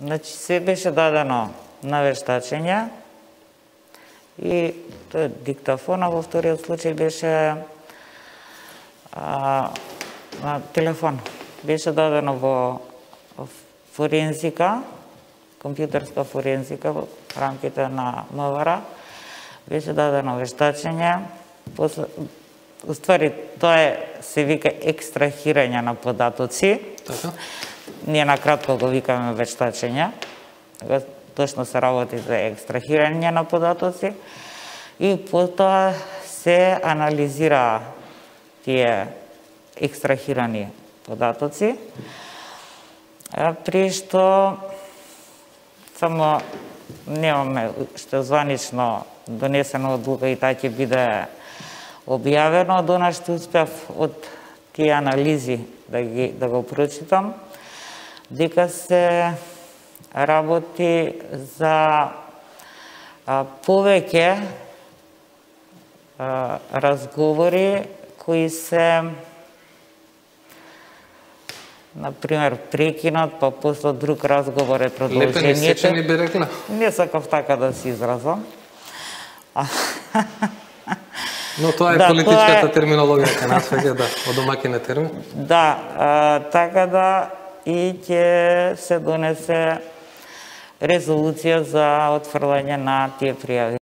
Значи, се беше дадено на вештачење и тој диктафон, а во вториот случај беше на телефон. Беше дадено во форензика, компјутерска форензика во рамките на МВР, беше дадено вештачење. Уствари, тоа се вика екстрахирање на податоци. Така? Ние на кратко го викаме вештачење. Точно се работи за екстрахирање на податоци. И потоа се анализира тие екстрахирани податоци, при што само немаме што званично донесено одлука и таа ќе биде објавено. До нас што успев од тие анализи да го прочитам, дека се работи за повеќе разговори кои се, например, прекинат, па после друг разговор е продолжението. Лепени сечени би рекла? Не сакав така да се изразам. Но тоа е политичката терминологија кај нас веќе, да, од домаќин термин. Да, така да и ќе се донесе резолуција за отфрлање на тие пријави.